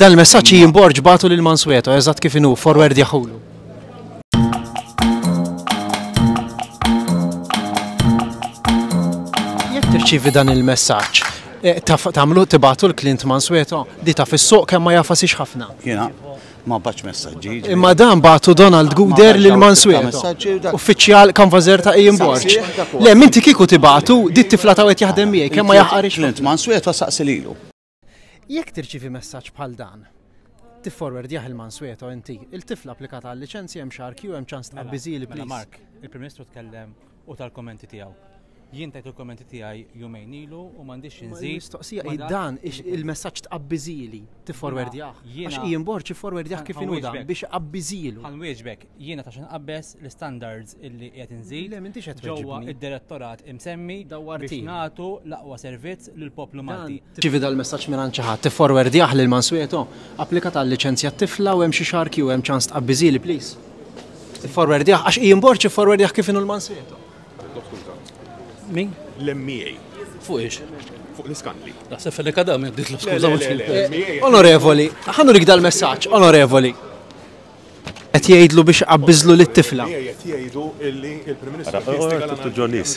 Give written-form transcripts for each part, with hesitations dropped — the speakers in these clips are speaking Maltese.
Dan il-messaġġ Ian Borg bagħtu lil Mansueto eżatt kif inhu, forwardjahulu. Jekk tirċievi dan il-messaġġ, eh, tagħmlu tibgħatu l-Clint Mansueto, di taf is-suq kemm ma jafasix ħafna. Jiena ma baċ messaġġi. Imma dan bagħtu Donald Guder lil Mansueto. Uffiċjal kanvażer ta' Ian Borg. Le, minti kieku tibgħatu, di t-tifla ta' qed jaħdem miegħi kemm ma jaħqarix. Clint Mansueto saqsi lilu. Jekk tirċievi messaġġ bħal dan, tifforwardjah il Mansueto inti, il-tifla applikata għal liċenzja hemm xahar kju hemm ċans Mela, tqabbiżili mela please. Mark, il-Prim Ministru tkellem u tal-kommenti tiegħu. Jien tajt il-kommenti tiegħi jumejn ilu u m'għandix xi nżid. Il-mistoqsija ma hi dak dan li ix- il-messaġġ tqabbiżili, tifforwardjah. Jiena- Għax Ian Borg ifforwardjah kif inhu dan Ħanwieġbek. biex iqabbiżilu. Ħanwieġbek, jiena ta' xinqabbeż l-standards illi qiegħed inżid Le, m'intix qed ġewwa tweġibni. id-direttorat imsemmi biex Dawwartini. nagħtu l-aqwa servizz lill-poplu Malti. Tirċievi dal-messaġġ mingħand xi ħadd, tifforwardjah lil Mansueto, applikat għal-liċenzja t-tifla u hemm xi xahar kju hemm ċans tqabbiżili please. Tifforwardjah għax Ian Borg ifforwardjah kif inhu l-Mansueto. Min? L-MEA. Fuq ix? Fuq l-iskandli. Naħseb fennek għadam, jek ditlob skuża. Onorevoli, ħa nurik dal-messaġġ, onorevoli. Qed jgħidlu biex iqabbiżlu lit-tifla. Qed jgħidu illi il-Prim Ministru Ġonis.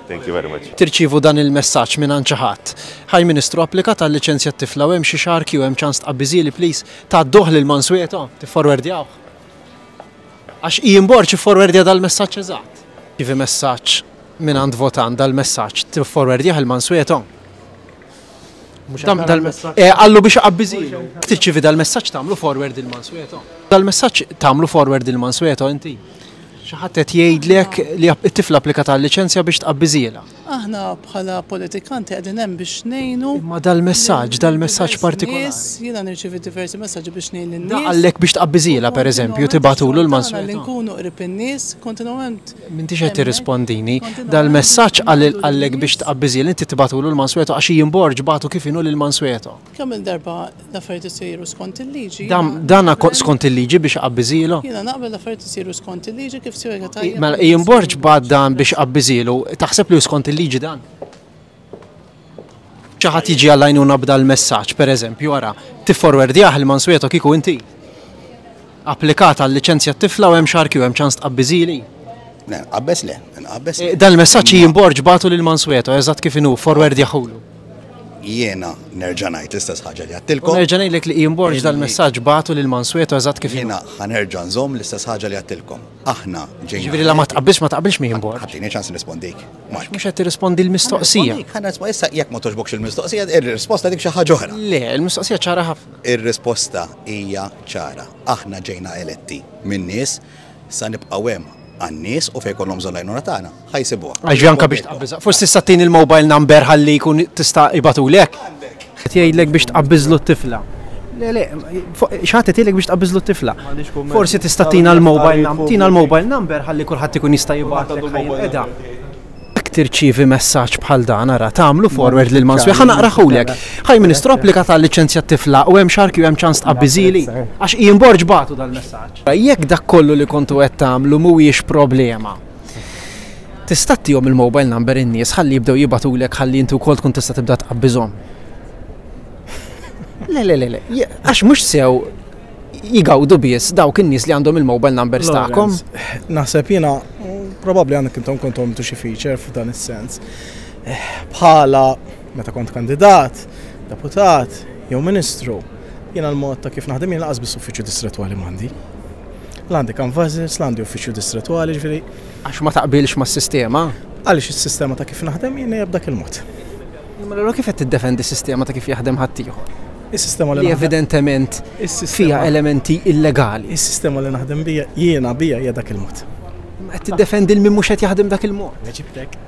Thank you very much. Tirċievu dan il-messaġġ mingħand xi ħadd. Hi Ministru, applikat għal liċenzja t-tifla u hemm xi xahar kju hemm ċans tqabbiżili please. Tgħadduh lil Mansueto, tifforwardjawh. Għax Ian Borg ifforwardja dal-messaġġ eżatt. Tirċievi messaġġ mingħand votant dal-messaġġ tifforwardjah il Mansueto. Eh, qallu biex iqabbiżilu. Tirċievi dal-messaġġ tagħmlu forward il Mansueto. Dal-messaġġ tagħmlu forward il Mansueto inti. Xi ħadd qed jgħidlek li t-tifla applikat għal liċenzja biex tqabbiżielha. Aħna bħala politikanti qegħdin hemm biex ngħinu. Imma dal-messaġġ, dal-messaġġ partikolari. Nies, jiena nirċievi diversi messaġġi biex ngħin lin-nies. Da qallek biex tqabbiżielha pereżempju, tibgħatulu l-Mansueto. Li nkunu qrib in-nies, kontinwament. M'intix qed tirrispondini. Dal-messaġġ qallek biex tqabbiżielha, inti tibgħatulu l-Mansueto għax Ian Borg bagħtu kif inhu lil Mansueto. Kemm-il darba l-affarijiet isiru skont il-liġi. Dan skont il-liġi biex iqabbiżilu? Jiena naqbel l-affarijiet isiru skont il-liġi kif spjega tajjeb. Mela Ian Borg bagħat dan biex iqabbiżilu, taħseb li hu skont il-liġi dan? Xi ħadd jiġi għall-għajnuna b'dal-messaġġ, pereżempju, ara, tifforwardjah il-Mansueto kieku inti? Applikat għal liċenzja t-tifla u hemm xahar kju hemm ċans tqabbiżili? Le, nqabbeż le, nqabbeż le. Dan il-messaġġ Ian Borg bagħtu lil Mansueto eżatt kif inhu, forwardjahulu. Jiena nerġa' ngħid l-istess ħaġa li għedtilkom. U nerġa' ngħidlek li Ian Borg dal-messaġġ bagħtu lil Mansueto eżatt kif inhu. Jiena ħa nerġa' nżomm l-istess ħaġa li għedtilkom. Aħna ġejna. Jiġifieri la ma tqabbilx ma taqbilx ma' Ian Borg. Ħa tini ċans nirrispondik. Għax mhux qed tirrispondi l-mistoqsija. Ħa nirrispondi issa jekk ma togħġbokx il-mistoqsija, ir-risposta dik xi ħaġa oħra. Le, il-mistoqsija ċara ħafna. Ir-risposta hija ċara. Aħna ġejna eletti min-nies, sa nibqgħu hemm għan-nies u fejn ikollhom bżonn l-għajnuna tagħna, ħa jsibuha. Għax anke biex tqabbiżha. Forsi tista' ttini l-mobile number ħalli jkun tista' jibgħatulek. Qed jgħidlek biex tqabbiżlu t-tifla. Le, le, xi ħadd qed jgħidlek biex tqabbiżlu t-tifla. Forsi tista' tina l-mobile number, tina l-mobile number ħalli kulħadd ikun jista' jibgħatlek ħa jinqeda. Jekk tirċievi messaġġ bħal dan ara, tagħmlu forward lil Mansueto. Ħa naqrahulek. Hi Ministru, applika tal-liċenzja t-tifla u hemm xarki u hemm ċans tqabbiżili. Għax Ian Borg bagħtu dal-messaġġ. Jekk dak kollu li kontu qed tagħmlu mhuwiex problema, tista' ttihom il-mobile number in-nies ħalli jibdew jibgħatulek ħalli inti wkoll tkun tista' tibda tqabbiżhom. Le, le, le, le. Għax mhux sew jgawdu biss dawk in-nies li għandhom il-mobile numbers tagħkom. Naħseb jiena probabbli għandek intom kontu għamiltu xi feature f'dan is-sens. Eh, bħala meta kont kandidat, deputat, jew ministru, jiena l-mod ta' kif naħdem jiena laqas biss uffiċċju distretwali m'għandi. L-għandi canvassers, l-għandi uffiċċju distretwali, ġifieri. Għax ma taqbilx mas-sistema? Għaliex is-sistema ta' kif naħdem jiena hija b'dak il-mod. Imma allura kif qed tiddefendi sistema ta' kif jaħdem ħaddieħor? Is-sistema li evidentement fiha elementi illegali. Is-sistema li naħdem bija jiena bija hija dak il-mod. Imma qed tiddefendi l min mhux qed jaħdem dak il-mod. Weġibtek.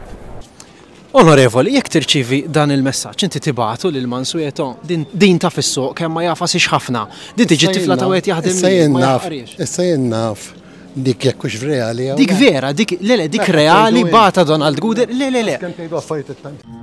Onorevoli, jekk tirċievi dan il-messaġġ inti tibagħtu lil Mansueto, din din taf is-suq kemm ma jagħfasix ħafna. Din tiġi t-tifla ta' wieħed jaħdem Issa jien ma naf, jaħqariex. issa jien naf dik jekk hux reali jew Dik le. vera, dik le le dik Mela, reali tgħidu bagħatha Donald Guder, le le le. Kemm tgħidu affarijiet it-tajb.